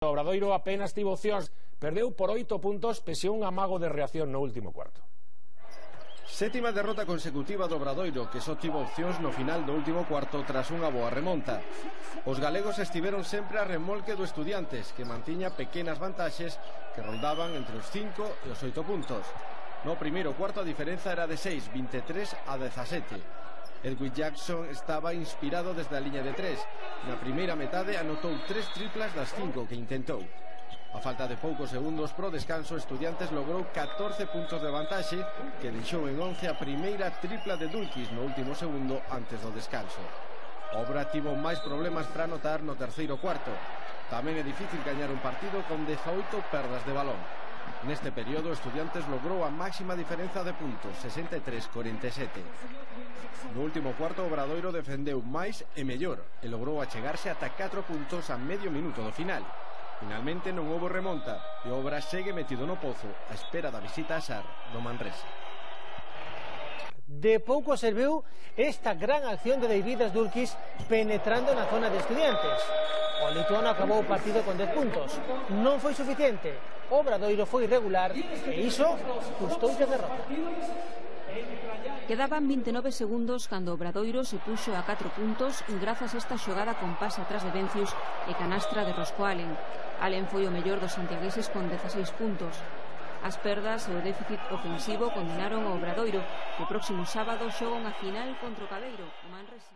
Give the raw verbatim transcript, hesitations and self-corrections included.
cuarto. Obradoiro apenas tivo opcións, perdeu por oito puntos pese a un amago de reacción no último cuarto. Sétima derrota consecutiva do Obradoiro, que só tivo opcións no final do último cuarto tras unha boa remonta. Os galegos estiveron sempre a remolque do Estudiantes, que mantiña pequenas vantaxes que roldaban entre os cinco e os oito puntos. No primeiro cuarto a diferenza era de seis, vinte e tres a dezasete. Edwin Jackson estaba inspirado desde a liña de tres. Na primeira metade anotou tres triplas das cinco que intentou. A falta de poucos segundos pro descanso, Estudiantes logrou catorce puntos de vantaxe, que deixou en once a primeira tripla de Dulkis no último segundo antes do descanso. Obra tivo máis problemas para anotar no terceiro cuarto. Tamén é difícil gañar un partido con dezaoito perdas de balón. Neste período, Estudiantes logrou a máxima diferenza de puntos, sesenta e tres a cuarenta e sete. No último cuarto, Obradoiro defendeu máis e mellor e logrou achegarse ata catro puntos a medio minuto do final. Finalmente non houbo remonta e Obra segue metido no pozo á espera da visita a Sar do Manresa. De pouco serviu esta gran acción de Deividas Dulkis penetrando na zona de Estudiantes. O lituano acabou o partido con dez puntos. Non foi suficiente. Obradoiro foi irregular e iso custoulle a derrota. Quedaban vinte e nove segundos cando Obradoiro se puxo a catro puntos grazas a esta xogada con pase atrás de Vencius e canastra de Rosco Allen. Allen foi o mellor dos santiagueses con dezaseis puntos. As perdas e o déficit ofensivo condenaron o Obradoiro, que o próximo sábado xoga unha final contra o Cabeiro, o Manresa.